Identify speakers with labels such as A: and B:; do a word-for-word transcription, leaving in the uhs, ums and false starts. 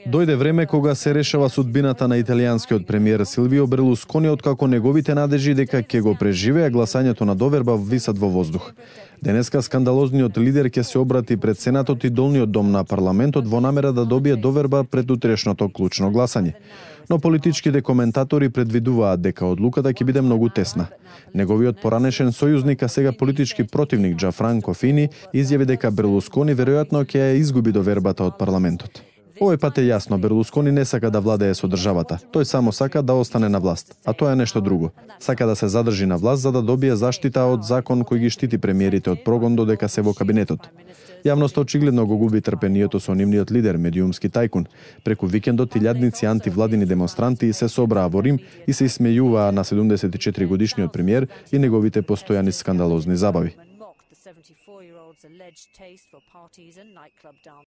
A: Дојде време кога се решава судбината на италијанскиот премиер Силвио Берлускони, откако неговите надежи дека ќе го преживеа гласањето на доверба висат во воздух. Денеска скандалозниот лидер ќе се обрати пред Сенатот и долниот дом на парламентот во намера да добие доверба пред утрешното клучно гласање. Но политичките коментатори предвидуваат дека одлуката ќе биде многу тесна. Неговиот поранешен сојузник, а сега политички противник Џафранко Фини, изјави дека Берлускони веројатно ќе ја изгуби довербата од парламентот. Овој пат е јасно, Берлускони не сака да владее со државата. Тој само сака да остане на власт, а тоа е нешто друго. Сака да се задржи на власт за да добие заштита од закон кој ги штити премиерите од прогон додека се во кабинетот. Јавноста очигледно го губи трпението со нивниот лидер, медиумски тајкун. Преку викендот илјадници антивладини демонстранти се собраа во Рим и се исмејуваа на седумдесет и четири годишниот премиер и неговите постојани скандалозни забави.